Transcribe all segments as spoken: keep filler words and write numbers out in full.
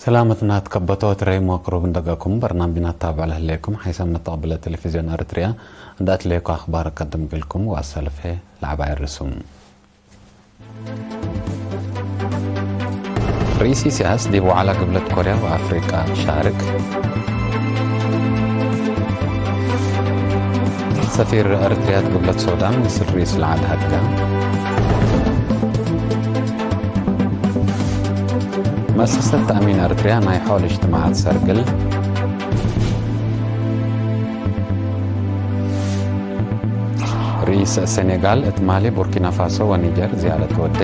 ሰላመትና ትከበቶ ትረይ መቅሩብ እንደገኩም በርናምጅና ታብዕ ለህሌኩም ሓይሰ መተቅብለ ቴሌቪዝዮን ኤረትርያ እንደ አትሌኮ አክባር ቀድም እግልኩም ወአሰልፌ ለዐባይ ርሱም። ርኢስ ኢሲያስ ዲብ ወዐላ ግብለት ኮርያ ወአፍሪቃ ሻርክ። ሰፊር ኤረትርያት ግብለት ሶዳን ምስል ርኢስ ለዐድ ሀድጋ። መእሰሰት ተእሚን ኤረትርያ ናይ ሖል እጅትማዓት ሰርግል። ርኢስ ሰኔጋል እት ማሊ፣ ቡርኪና ፋሶ ወኒጀር ዝያረት ወዴ።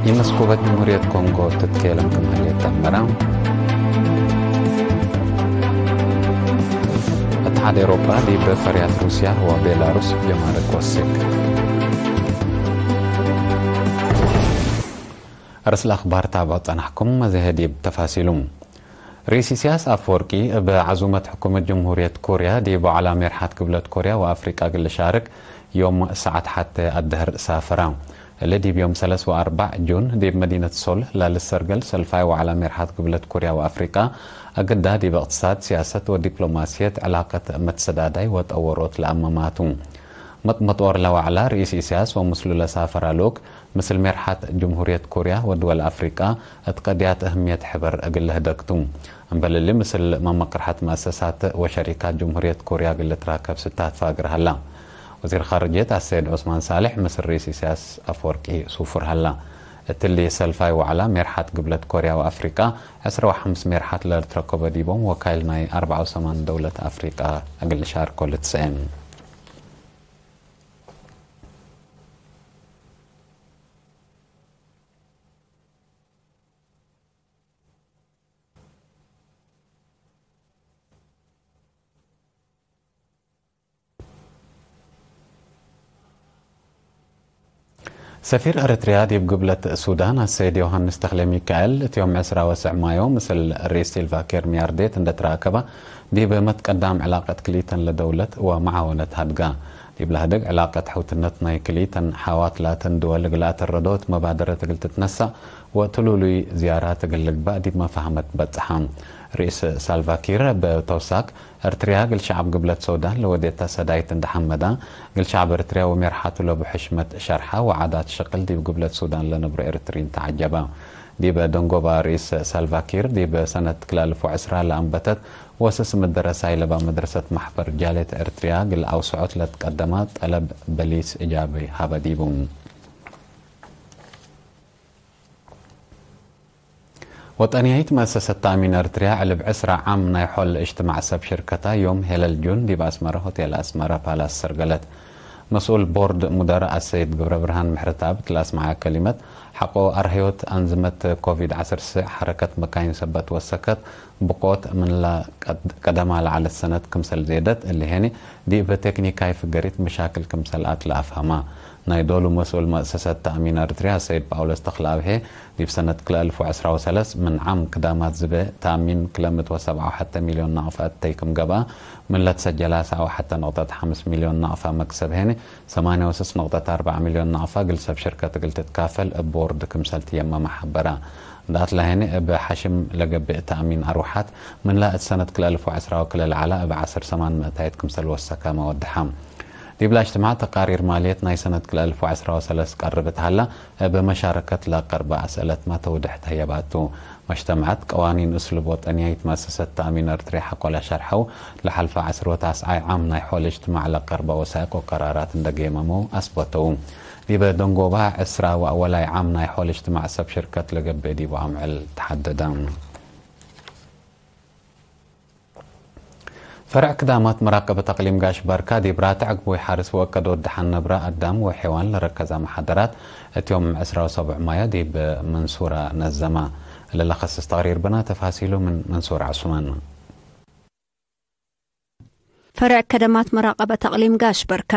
ኢመስኩበት ጅምሁርየት ኮንጎ ትትኬለም ክም ህሌት ተአመረ። እትሓድ ኤውሮጳ ዲብ ፈርያት ሩስያ ወቤላሩስ ጀማርክ ወስክ። አርእስ ለአክባር ታብዖ ጸናሕኩም፣ መዘሄ ዲብ ተፋሲሉ። ርኢስ ኢሲያስ አፈወርቂ እብ ዐዙመት ሕኩመት ጅምሁርየት ኮርያ ዲብ ወዐላ ሜርሓት ግብለት ኮርያ ወአፍሪቃ እግል ልሻርክ ዮም ሰዓት ሐቴ አደህር ሳፈራ። እሊ ዲብ ዮም ሰለስ ወአርበዕ ጁን ዲብ መዲነት ሶል ላልሰርገል ሰልፋይ ወዐላ ሜርሓት ግብለት ኮርያ ወአፍሪቃ አግዳ ዲብ እቅትሳድ፣ ሲያሰት ወዲፕሎማስየት ዕላቀት መትሰዳዳይ ወጠወሮት ለአመማቱ። መጥመጦር ለወዐላ ርኢስ ኢሲያስ ወምስሉ ለሳፈራ ልኡክ ምስል ሜርሓት ጅምሁርየት ኮርያ ወድወል አፍሪቃ እት ቀድያት እህምየት ሕበር እግል ልህደግ ቱ። እምበል እሊ፣ ምስል መመቅርሐት መአሰሳት ወሸሪካት ጅምሁርየት ኮርያ እግል ልትራከብ ስታት ፋግር ሀላ። ወዚር ኻርጅየት አሰይድ ዑስማን ሳልሕ ምስል ርኢስ ኢሲያስ አፈወርቂ ሱፉር ሀላ። እትሊ ሰልፋይ ወዐላ ሜርሓት ግብለት ኮርያ ወአፍሪቃ፣ ዕስራ ወሐምስ ሜርሓት ለልትረከቦ ዲቦም ወካይል ናይ አርበዓ ወሰማን ደውለት አፍሪቃ እግል ልሻርኮ ልትሰኤ። ሰፊር ኤረትርያ ዲብ ግብለት ሱዳን አሰይድ ዮሃንስ ተክለሚካኤል፣ እት ዮም ዕስራ ወሰዕ ማዮ ምስል ርኢስ ሳልቫ ኪር ሚያርዴት እንደ ትራከበ፣ ዲብ መትቀዳም ዕላቀት ክልኢተን ለደውለት ወመዓወነት ሀድጋ። ዲብ ለሀድግ ዕላቀት ሐውትነት ናይ ክልኢተን ሐዋት ላተን ድወል እግል አተረዶት መባደረት እግል ትትነሳእ ወትሉሉይ ዝያራት እግል ልግባእ ዲብ መፋህመት በጽሐ። ርኢስ ሳልቫ ኪር እብ ተውሳክ፣ ኤረትርያ እግል ሸዐብ ግብለት ሶዳን ለወዴተ ሰዳይት እንደ ሐመዳ፣ እግል ሸዐብ ኤረትርያ ወሜርሓቱ ለቡ ሕሽመት ሸርሐ ወዓዳት ሽቅል ዲብ ግብለት ሱዳን ለነብሮ ኤረትርዪን ተዐጀበ። ዲበ ደንጎባ ርኢስ ሳልቫ ኪር፣ ዲብ ሰነት ክልኤ አልፍ ወዕስራ ለአንበተት ወስስ ምደረሳይ ለባ መድረሰት ማሕበር ጃልየት ኤረትርያ እግል አውስዖት ለትቀደማ ጠለብ በሊስ እጃቢ ሀበ ዲቡ። ወጠንያይት መአሰሰት ተእሚን ኤረትርያ ዕልብ ዕስራ ዓም ናይ ሖል እጅትማዕ ሰብ ሽርከታ ዮም ሄለል ጁን ዲብ አስመረ ሆቴል አስመረ ፓላስ ሰርገለት። መስኡል ቦርድ ሙደረእ አሰይድ ገብረብርሃን ምሕረተአብ እት ለአስመዐ ከሊመት፣ ሐቆ አርህዮት አንዝመት ኮቪድ ዐስር ስዕ ሐረከት መካይን ሰበት ወሰከት ብቆት ምንላ ቀድ-፣ ቀደማ ለዐለት ሰነት ክምሰል ዜደት፣ እሊ ሄኒ ዲብ ቴክኒካይ ፍገሪት መሻክል ክምሰል አትለ አፍሀማ። ናይ ዶሉ መስኡል መእሰሰት ተእሚን ኤረትርያ ሰይድ ጳውሎስ ተክለአብሄ፣ ዲብ ሰነት ክልኤ አልፍ ወዕስራ ወሰለስ ምን ዓም ክዳማት ዝቤ ተእሚን ክለ ምእት ወሰብዓ ወሐተ ሚልዮን ናቅፋ እተይ ክም ገብአ፣ ምን ለትሰጀላ ሰብዓ ወሐተ ነቅጠት ሐምስ ሚልዮን ናቅፋ መክሰብ ሄኒ፣ ሰማንያ ወስስ ነቅጠት አርበዕ ሚልዮን ናቅፋ እግል ሰብ ሽርከት እግል ትትካፈል እብ ቦርድ ክምሰል ትየመመ ሐበረ። እንደ አትለ ሄኒ እብ ሐሽም ለገብእ ተእሚን አርወሓት፣ ምንላ እት ሰነት ክልኤ አልፍ ወዕስራ ወክልኤ ለዐለ እብ ዐስር ሰማን ምእታይት ክምሰል ወሰከመ ወደሐ። ዲብላ እጅትማዕ ተቃሪር ማልየት ናይ ሰነት ክልኤ አልፍ ወዐስራ ወሰለስ ቀርብ እት ሀላ፣ እብ መሻረከት ለቀርበ አስእለትመ ተውድሕ ተህየባቱ። መጅተመዐት ቀዋኒን እስሉብ ወጠንያይት መአሰሰት ተእሚን ኤረትርያ ሐቆለ ሸርሐው፣ ለሐልፈ ዐስር ወታስዓይ ዓም ናይ ሖል እጅትማዕ ለቀርበ ወሳይቅ ወቀራራት እንደ ጌመመው አስበተው። ዲበ ደንጎባ ዕስራ ወአወላይ ዓም ናይ ሖል እጅትማዕ ሰብ ሽርከት ለገብእ ዲቡ አምዕል ተሐደደ። ፈርዕ ክዳማት መራቀበት አቅሊም ጋሽ ባርካ ዲብ ራትዕ ግቡይ ሐርስ ወአከዶት ደሐን ነብረ አዳም ወሔዋን ለረከዘ መሓደራት እት ዮም ዕስራ ወሰቡዕ ማዮ ዲብ መንሱራ ነዘመ። ለለከስስ ተቅሪር ብና፣ ተፋሲሉ ምን መንሱር ዑስማን። ፈርዕ ከደማት መራቀበት አቅሊም ጋሽ በርካ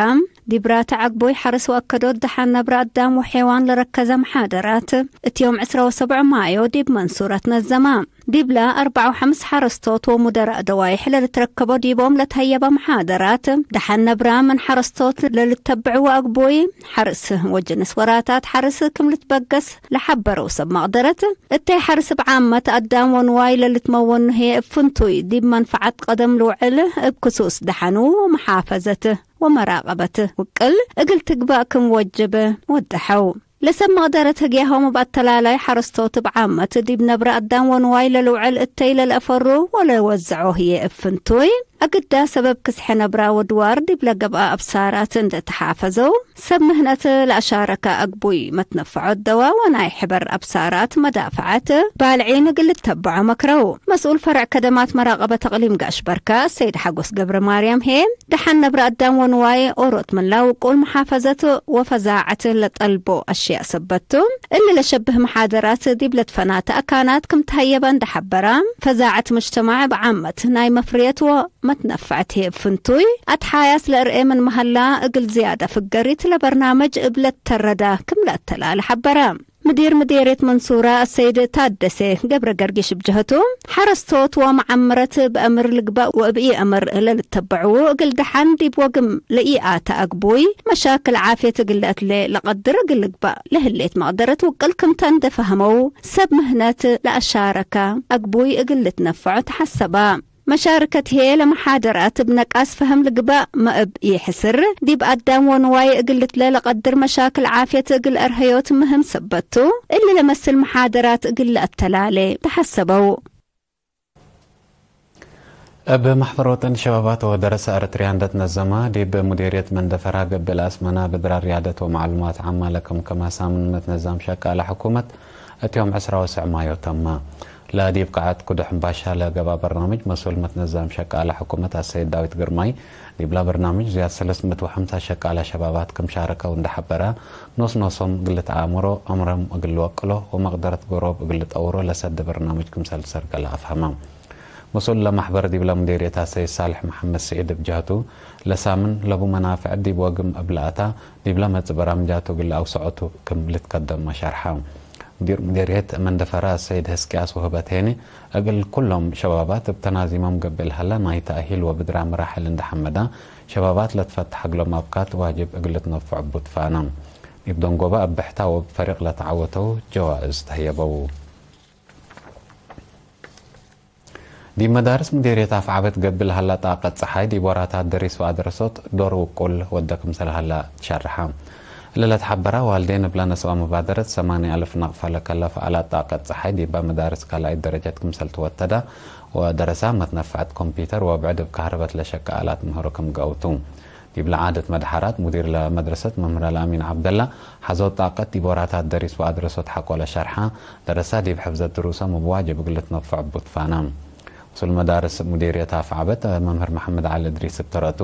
ዲብ ራትዕ ግቡይ ሐርስ ወአከዶት ደሐን ነብረ አዳም ወሔዋን ለረከዘ መሓደራት እት ዮም ዕስራ ወሰቡዕ ማዮ ዲብ መንሱራ ትነዘመ። ዲብለ አርበዕ ወሐምስ ሐረስቶት ወሙደራእ ደዋይሕ ለልትረከቦ ዲቦም ለትሀየበ መሓደራት፣ ደሐን ነብራ ምን ሐረስቶት ለልተብዕዎ አግቡይ ሐርስ ወጅንስ ወራታት ሐርስ ክም ልትበገስ ለሐበረው ሰብ መቅደረት፣ እተይ ሐርስ እብ ዓመት አዳም ወንዋይ ለልትመወኑ ህዬ እብ ፍንቱይ ዲብ መንፈዐት ቀደም ልውዕል እብ ክሱስ ደሐኑ ወመሓፈዘት ወመራቀበት ውቅል እግል ትግባእ ክም ወጅብ ወደሐው። ለሰብ መቅደረት ህግያሆም እብ አተላላይ ሐረስቶት እብ ዓመት ዲብ ነብረ አዳም ወንዋይ ለልውዕል እተይ ለልአፈሩ ወለወዘዖ ህዬ እብ ፍንቱይ አግዳ ሰበብ ክስሐ ነብራ ወድዋር ዲብ ለገብአ አብሳራት እንዴ ተሓፈዘው፣ ሰብ ምህነት ለአሻረከ አግቡይ መትነፈዖት ደዋ ወናይ ሕበር አብሳራት መዳፈዐት ባልዒን እግል ልተበዖ መክረው። መስኡል ፈርዕ ከደማት መራቀበት አቅሊም ጋሽ በርካ ሰይድ ሐጎስ ገብረ ማርያም ህዬ፣ ደሐን ነብረ አዳም ወንዋይ ኦሮት ምን ለውቁል መሓፈዘት ወፈዛዐት ለጠልቦ አሽያእ ሰበት ቱ፣ እሊ ለሸብህ መሓደራት ዲብ ለትፈናተ አካናት ክም ተሀየበ እንዴ ሐበራ፣ ፈዛዐት ሙጅተማዕ እብ ዓመት ናይ መፍርየት ወመትነፈዐት ህዬ እብ ፍንቱይ አትሓያስ ለእርኤ ምን መሀላ፣ እግል ዝያደ ፍገሪት ለበርናምጅ እብ ለተረዳ ክም ለአተላለ ሐበረ። ምዲር ምዴርየት መንሱራ አሰይድ ታደሴ ገብረ ገርጊሽ እብ ጀህቱ፣ ሐረስቶት ወመዓምረት በአምር ልግባእ ወእብ ኢአምር ለልተበዕዉ እግል ደሐን ዲብ ወግም ለኢአተ አግቡይ መሻክል ዓፍየት እግል ለአትሌ ለቀድር እግል ልግባእ ለህሌት መቅደረት ውቅል ክምተ እንዴ ፈሀመው፣ ሰብ ምህነት ለአሻረከ አግቡይ እግል ልትነፈዖ ተሐሰባ። መሻርከት ህዬ ለመሓደራት እብ ነቃስ ፈህም ልግባእ መእብ ኢሕስር፣ ዲብ አዳም ወንዋይ እግል ልትለ ለቀድር መሻክል ዓፍየት እግል አርሀዮት ምህም ሰበት ቱ፣ እሊ ለመስል መሓደራት እግል ለአተላሌ ተሐሰበው። እብ መሕበር ወጠን ሸባባት ወደረሰ ኤረትርያ እንዴ ትነዘማ፣ ዲብ ሙዴርየት መንደፈራ ገብእ ለአስመና ብድራር ርያደት ወመዕሉማት ዓማ ለከምከመ ሳምን መትነዛም ሸቃለ ሕኩመት እት ዮም ዕስራ ወስዕ ማዮ ተመ። ለዲብ ቃዐት ኩዱ ሕምባሻ ለገብአ በርናምጅ መስኡል መትነዛም ሸቃለ ሕኩመት አሰይድ ዳዊት ግርማይ፣ ዲብለ በርናምጅ ዝያድ ሰለስ ምእት ወሐምሳ ሸቃለ ሸባባት ክም ሻረከው እንዴ ሐበረ፣ ኖስ-ኖሶም እግል ልትአምሮ፣ ዕምሮም እግል ልወቅሎ ወመቅደረት ጎሮብ እግል ልጠውሮ ለሰድ በርናምጅ ክምሰል ልሰርቀለ አፍሀመ። መስኡል ለመሕበር ዲብለ ሙዴርየት አሰይድ ሳልሕ መሐመድ ስዒድ እብ ጀህቱ፣ ለሳምን ለቡ መናፍዕ ዲብ ወግም እብ ለአታ፣ ዲብለ መጽእ በራምጃቱ እግል ለአውሰዖቱ ክም ልትከደም መ ሸርሐ። ሙዲር ሙዴርየት መንደፈራ አሰይድ ህዝቅያስ ወህበት ሄኒ፣ እግል ኩሎም ሸባባት እብ ተናዚሞም ገብእ ለሀለ ናይ ተእሂል ወብድራ መራሕል እንዴ ሐመዳ፣ ሸባባት ለትፈተሕ እግሎም አብካት ዋጅብ እግል ልትነፈዑ እቡ ትፋነ። ዲብ ደንጎበ እብ ብሕታ ወእብ ፈሪቅ ለተዐወተው ጀዋእዝ ተህየበው። ዲብ መዳርስ ሙዴርየት አፍዓበት ገብእ ለሀላ ጣቀት ጸሓይ፣ ዲብ ወራታት ደሪስ ወአድረሶት ዶር ውቁል ወደ ክምሰል ሀላ ትሸርሐ። እለ ለትሐበራ ዋልዴን እብለ ነስኦ መባደረት ሰማንያ አልፍ ናቅፋ ለከለፈ አላት ጣቀት ጸሓይ፣ ዲበ መዳርስ ካልኣይት ደረጀት ክምሰል ትወተዳ ወደረሳ፣ መትነፈዐት ኮምፒተር ወብዕድ እብ ከህርበት ለሸቀ አላት ምህሮ ክም ገአው ቱ። ዲብለ ዓደት መድሐራት፣ ሙዲር ለመድረሰት መምህር አልአሚን ዐብደላ፣ ሐዞት ጣቀት ዲብ ወራታት ደሪስ ወአድረሶት ሐቆለ ሸርሐ፣ ደረሳ ዲብ ሕፍዘት ድሩሶም እብ ዋጅብ እግል ልትነፈዑ እቡ ትፋነ። መስኡል መዳርስ ሙዲርየት አፍዓበት መምህር መሐመድ ዐሊ እድሪስ እብ ተረቱ፣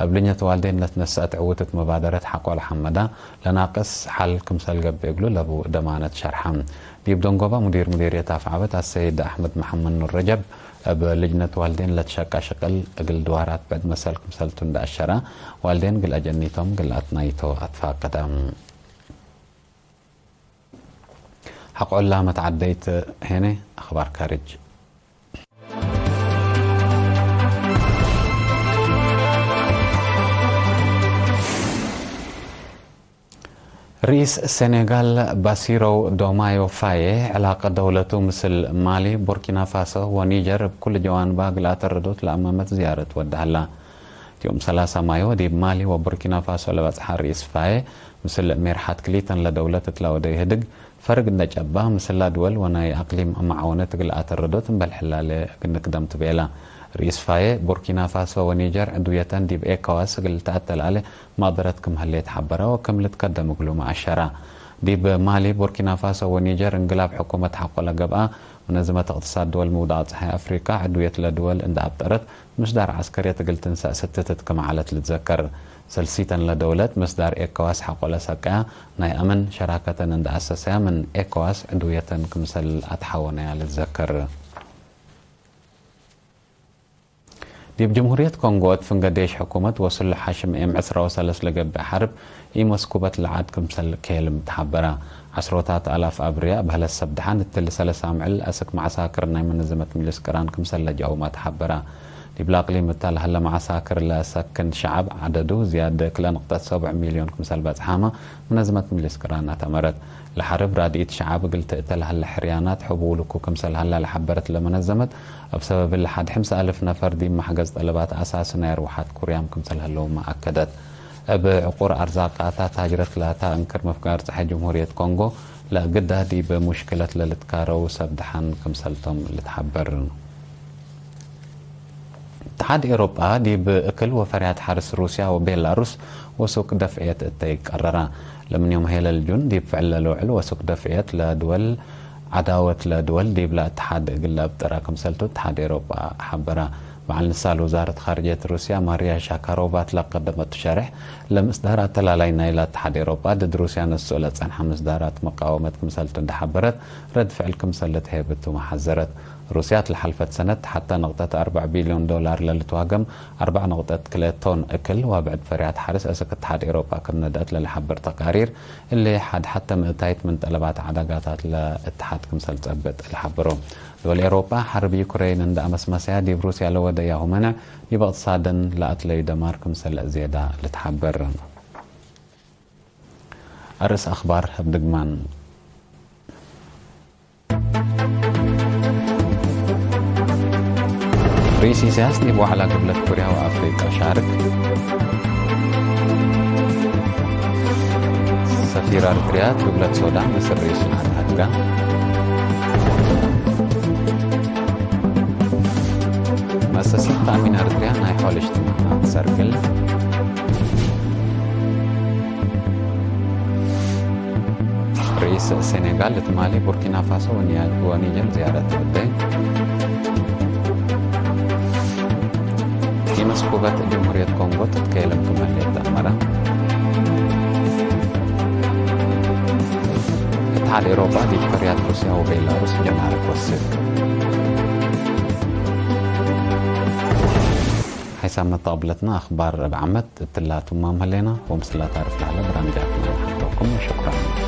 እብ ልጅነት ዋልዴን ለትነሰአት ዕውትት መባደረት ሐቆለ ሐመዳ፣ ለናቅስ ሐል ክምሰል ገብእ እግሉ ለቡ ደማነት ሸርሐ። ዲብ ደንጎበ ሙዲር ሙዲርየት አፍዓበት አሰይድ አሕመድ መሐመድ ኑር ረጀብ፣ እብ ልጅነት ዋልዴን ለትሸቀ ሽቅል እግል ድዋራት ብዕድ መሰል ክምሰልቱ እንዴ አሸረ፣ ዋልዴን እግል አጀኒቶም እግል አትናይቶ አትፋቀደ። ሐቆላ መትዓደይት ሄነ አኽባር ካርጅ። ርኢስ ሴኔጋል ባሲሮው ዶማዮ ፋዬ፣ ዕላቀ ደውለቱ ምስል ማሊ፣ ቡርኪና ፋሶ ወኒጀር እብ ኩሉ ጀዋንባ እግል አተረዶት ለአመመት ዝያረት ወደ ሀላ። ዮም ሰላሳ ማዮ ዲብ ማሊ ወቡርኪና ፋሶ ለበጽሐ ርኢስ ፋዬ፣ ምስል ሜርሐት ክሊተን ለደውለት እት ለወደ ኢህድግ፣ ፈርግ እንደ ጨባ፣ ምስላ ድወል ወናይ አቅሊም መዓወነት እግል አተረዶት እምበል ሕላለ እግል ንክደም ትቤላ። ርኢስ ፋዬ፣ ቡርኪና ፋሶ ወኒጀር ዕድውየተን ዲብ ኤኮዋስ እግል ልትአተላለ መቅደረት ክም ህሌት ሐበረ ወክም ልትከደም እግሉመ አሸራ። ዲብ ማሊ፣ ቡርኪና ፋሶ ወኒጀር እንግላብ ሕኩመት ሐቆ ለገብአ፣ መነዝመት እቅትሳድ ድወል ምውዳቅ ጸሓይ አፍሪቃ፣ ዕድውየት ለድወል እንደ አብጠረት፣ ምስዳር ዐስከርየት እግል ትንሰእ ስትትት ክም ዐለት ልትዘከር። ሰልሲተን ለደውለት ምስዳር ኤኮዋስ ሐቆ ለሰቀያ፣ ናይ አምን ሸራከተን እንደ አሰሰያ ምን ኤኮዋስ ዕድውየተን ክምሰል አትሓወነያ ልትዘከር። ዲብ ጅምሁርየት ኮንጎ እት ፍንገ ዴሽ ሕኩመት ወስሉሕ ሐሽም ኤም ዕስራ ወሰለስ ለገብእ ሐርብ ኢመስኩበት ለዐድ ክምሰል ኬልም ተሐበረ። ዐስሮታት አላፍ አብርያ በህለት ሰብ ደሓን እትሊ ሰለስ አምዕል አስክ መዓሳክር ናይ መነዘመት ምጅልስ ቅራን ክምሰል ለጀአውማ ተሐበራ። ዲብለ አቅሊም እተ ለሀለ መዓሳክር ለሰክን ሸዐብ ዐደዱ ዝያድ ክልኤ ንቅጠት ሰብዕ ሚልዮን ክምሰል በጽሓመ መነዘመት ምጅልስ ቅራን አተመረት። ለሐርብ ራድኢት ሸዐብ እግል ትእተ ለሀለ ሕርያናት ሕቡሉኩ ክምሰል ሀላ ለሐበረት ለመነዘመት፣ እብ ሰበብ እሊ ሐድ ሕምሰ አልፍ ነፈር ዲብ መሕገዝ ጠለባት አሳሲ ናይ አርወሐት ኩርያም ክምሰል ህለውመ አከደት። እብ ዕቁር አርዛቃታ ታጅረት ላታ እንክር ምፍጋር ጸሓይ ጅምሁርየት ኮንጎ ለእግዳ ዲብ ሙሽክለት ለልትካረው ሰብ ደሓን ክምሰልቶም ልትሐበር። እትሓድ ኤውሮጳ ዲብ እክል ወፈርያት ሐርስ ሩስያ ወቤላሩስ ወሱክ ደፍዕየት እተ ይቀረራ። ለምን ዮም ሄለል ጁን ዲብ ፍዕል ለልውዕል ወሱክ ደፍዕየት ለድወል ዐዳወት ለድወል ዲብለ እትሓድ እግል ለአብጥረ ክምሰልቱ እትሓድ ኤውሮጳ ሐበረ። በዐል ንሳል ውዛረት ካርጅየት ሩስያ ማርያ ሻካሮቫ ለቀደመቱ ሸሬሕ፣ ለምስዳር አተላላይ ናይለ እትሓድ ኤውሮጳ ድድ ሩስያ ነስኦ ለጸንሐ ምስዳራት መቃወመት ክምሰልቱ እንዴ ሐበረት፣ ረድ ፍዕል ክምሰል ልትሀይብ እቱመ ሐዘረት። ሩስያ እት ለሐልፈት ሰነት ሐተ ንቅጠት አርበዕ ቢልዮን ዶላር ለልትዋገም አርበዕ ንቅጠት ክልኤ ቶን እክል ወብዕድ ፈርያት ሐርስ አስክ እትሓድ ኤውሮጳ ክም ነድአት ለልሐብር ተቃሪር፣ እሊ ሐድ ሐተ ምእታይት ምን ጠለባት ዐዳጋታት ለእትሓድ ክምሰል ጸብጥ ለሐብሮ። ድወል ኤውሮጳ ሐርብ ዩክሬን እንደ አመስመሰያ ዲብ ሩስያ ለወደያሁ መነዕ ዲብ እቅትሳደን ለአትለዩ ደማር ክምሰል ዝየዳ ልትሐበር። አርእስ አክባር እብ ድግማን። ርኢስ ኢሳያስ ዲብ ወዕላ ግብለት ኩርያ ወአፍሪቃ ሻርክ። ሰፊር አርትርያ እት ግብለት ሶዳን ምስል ርኢስ ጅምዓት ሀድጋ። መአሰሲት ተአሚን አርትርያ ናይ ሖል እጅትማዕ ሰርግል። ርኢስ ሴኔጋል እት ማሊ፣ ቡርኪና ፋሶ ወኒያ-፣ ወኒጀር ዝያረት ወደ። ኪመስኩበት ጅምሁርየት ኮንጎ ትትከየለም ክም ህሌት ተአመረ። እትሓድ ኤውሮጳ ዲብ ፈርያት ሩስያ ወቤላሩስ ጀማርክ ወስክ። ሐይሳም መጣብለትና አክባር እብ ዓመት እትላ ቱማም ህሌና፣ ወምስላ ታርፍ ለዐለ በራምጃትና ለሐተኩም። ሸኩራን።